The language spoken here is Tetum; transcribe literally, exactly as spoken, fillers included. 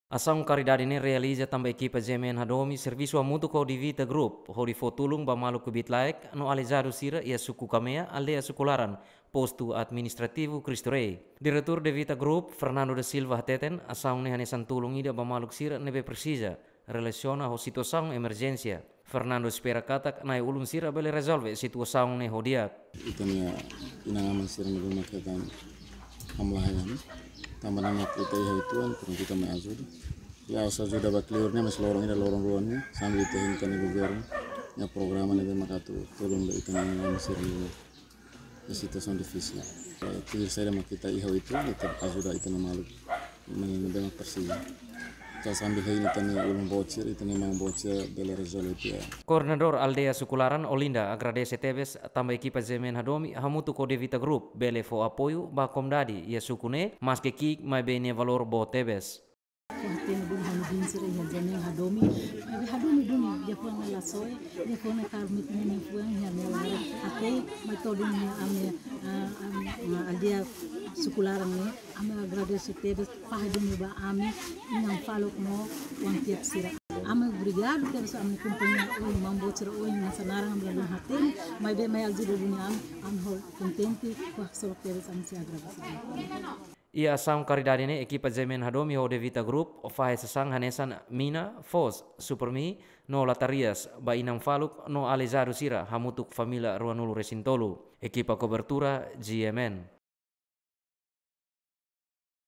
Asaun karidade ne'e realiza tanba ekipa G M N Hadomi servisu hamutuk ho Divita Group hodi fó tulun ba maluk kbiit-laek no aleijadu sira iha suku Kamea, aldeia Sukularan, postu administrativu Cristo Rei. Diretór Divita Group, Fernando da Silva, hateten asaun ne'e hanesan tulun ida ba maluk sira ne'ebé presiza relasiona ho situasaun emerjénsia. Fernando espera katak na'i-ulun sira bele rezolve situasaun ne'e ho di'ak. Ita-nia inan-aman sira ne'ebé mak hetan hamlaha ne'e, tanba ne'e mak ita iha uitoan, prontu ita mai ajuda. Ya, ha'u sei ajuda ba kleur ne'e, mas loron ida, loron rua ne'e, sambil ita hein ita-nia governu nia programa ne'ebé mak atu tulun ba ita-nia inan-aman sira ne'ebé iha situasaun difisil. Eh, tuir saida mak ita iha uitoan, ita ajuda ita-nia maluk ne'ebé mak presiza. Ita sambil hein ita-nia ulun boot sira, ita-nia maun boot sira bele rezolve tiha. Koordenadór Aldeia Sukularan, Olinda, agradese tebes tanba ekipa G M N Hadomi hamutuk ho Divita Group bele fó apoiu ba komunidade iha suku ne'e, maske ki'ik maibé nia valór boot tebes. Fó-hatene duni ha'u-nia biin sira iha G M N Hadomi. Maibé Hadomi duni, liafuan ne'e la soe, liafuan ne'e kaer metin nia fuan iha nia laran. Hatene mai to'o duni iha ami, ah, ami, ah, aldeia Sukularan ne'e. Ami agradese tebes, fahe duni ba ami, inan faluk no oan-kiak sira. Ami obrigadu tebes ami kompañia ohin, maun boot sira ohin, hanesan naran ami la hatene, maibé mai ajuda duni ami, ami ho kontente, ho haksolok tebes ami sei agradese. Iha asaun karidade ne'e ekipa G M N Hadomi ho Divita Group fahe sasán hanesan mina, foos, supermi no latarias ba inan faluk no aleijadu sira hamutuk família ruanulu-resin-tolu. Ekipa kobertura G M N.